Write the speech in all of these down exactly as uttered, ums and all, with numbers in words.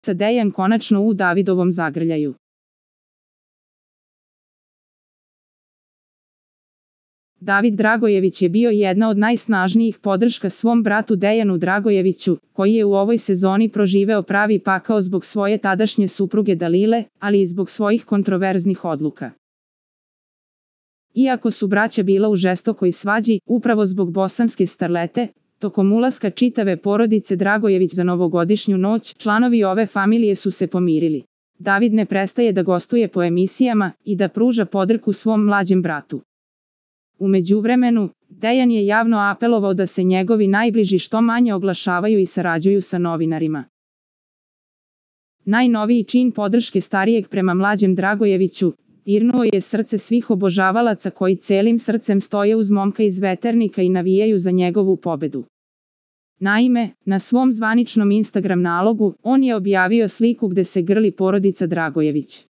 sa Dejan konačno u Davidovom zagrljaju. David Dragojević je bio jedna od najsnažnijih podrška svom bratu Dejanu Dragojeviću, koji je u ovoj sezoni proživeo pravi pakao zbog svoje tadašnje supruge Dalile, ali i zbog svojih kontroverznih odluka. Iako su braća bila u žestokoj svađi, upravo zbog bosanske starlete, tokom ulaska čitave porodice Dragojević za novogodišnju noć, članovi ove familije su se pomirili. David ne prestaje da gostuje po emisijama i da pruža podršku svom mlađem bratu. U međuvremenu, Dejan je javno apelovao da se njegovi najbliži što manje oglašavaju i sarađuju sa novinarima. Najnoviji čin podrške starijeg prema mlađem Dragojeviću dirnuo je srce svih obožavalaca koji celim srcem stoje uz momka iz Veternika i navijaju za njegovu pobedu. Naime, na svom zvaničnom Instagram nalogu, on je objavio sliku gde se grli porodica Dragojević.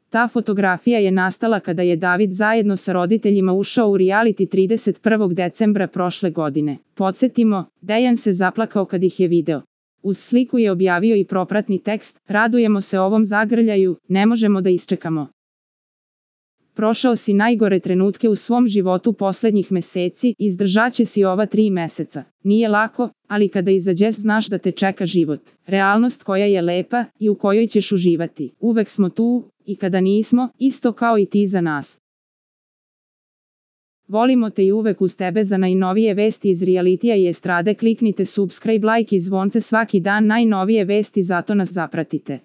Ta fotografija je nastala kada je David zajedno sa roditeljima ušao u reality trideset prvog decembra prošle godine. Podsjetimo, Dejan se zaplakao kad ih je video. Uz sliku je objavio i propratni tekst: radujemo se ovom zagrljaju, ne možemo da isčekamo. Prošao si najgore trenutke u svom životu poslednjih meseci, izdržaće si ova tri meseca. Nije lako, ali kada izađeš znaš da te čeka život. Realnost koja je lepa i u kojoj ćeš uživati. Uvek smo tu, i kada nismo, isto kao i ti za nas. Volimo te i uvek uz tebe. Za najnovije vesti iz realitija i estrade kliknite subscribe, like i zvonce svaki dan. Najnovije vesti, zato nas zapratite.